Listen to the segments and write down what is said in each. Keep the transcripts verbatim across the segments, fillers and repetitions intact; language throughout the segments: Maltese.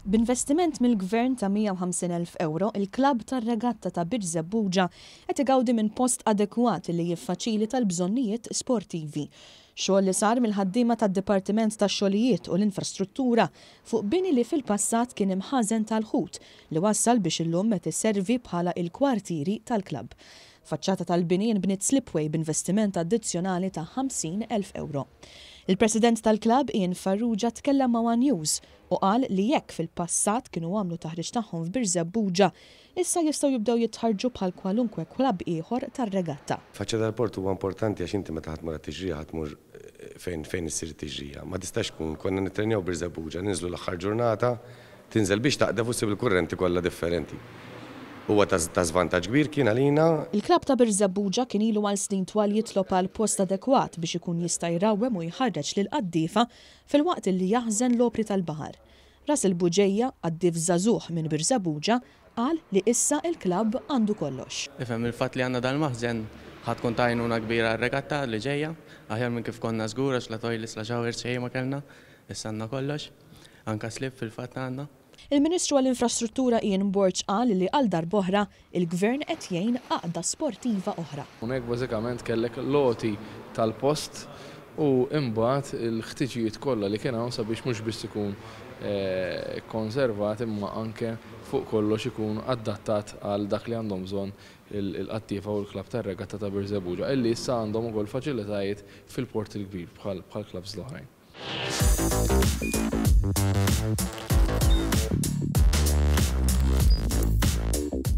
B'investiment mill-Gvern ta' mija u ħamsin elf ewro, il-klabb tar-regatta ta' Birżebbuġa qed igawdi minn post adekwat li jiffaċilita l-bżonnijiet sportivi. Xogħol li sar mill-ħaddiema tad-Dipartiment tax-Xogħlijiet u l-Infrastruttura fuq bini li fil-passat kien imħażen tal-ħut li wassal biex illum qed iservi bħala il-kwartieri tal-klabb. Faċċata tal-bini nbniet slipway b'investiment addizzjonali ta' ħamsin elf ewro. Il-President tal-klabb Ian Farrugia tkellem ma' One News u qal li jekk fil-passat kienu għamlu taħriġ tagħhom f'Birżebbuġa, issa jistgħu jibdew jitħarġu bħal kwalunkwe klabb ieħor tar-regatta. Faċċata tal-port huwa importanti għax inti meta ħa tmur għat-tiġrija ħa tmur fejn, fejn issir it-tiġrija. Ma tistax tkun konna nittrenjaw Birżebbuġa, ninżlu l-aħħar ġurnata, tinżel biex taqdef u ssib il-kurrenti kollha differenti. Huwa ta' ta' żvantaġġ kbir kien għalina. Il-klabb ta' Birżebbuġa kien ilu għal snin twal jitlob għal post adekwat biex ikun jista' jrawwem u jħarreġ lil qaddiefa filwaqt li jaħżen l-opri tal-baħar. Russell Buġeja, qaddief żagħżugħ minn Birżebbuġa, qal li issa il-klabb għandu kollox. Ifhem il-fatt li għandna dal-maħżen ħa tkun ta' għajnuna kbira r-regatta li ġejja, aħjar minn kif konna żgur għax la toilets, la showers xejn ma kellna, issa għandna kollox, anka slip fil-fatt għandna. Il-Ministru għall-Infrastruttura Ian Borg qal li għal darb'oħra il-Gvern qed jgħin għaqda sportiva oħra. Hawnhekk bażikament kellek loti tal-post u imbagħad il-ħtiġijiet kollha li kien hawn sabiex mhux biss ikun, eh, konservat imma anke fuq kollox ikun adattat għal dak li għandhom bżonn il-qaddiefa u l-klabb tar-regatta ta' Birżebbuġa, illi issa għandhom ukoll faċilitajiet fil-port il-kbir bħal, bħal klabbs l-oħrajn.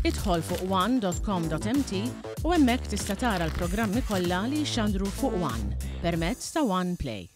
Idħol fuq one dot com dot M T u hemmhekk tista' tara l-programmi kollha li jxandru fuq One permezz ta' One Play.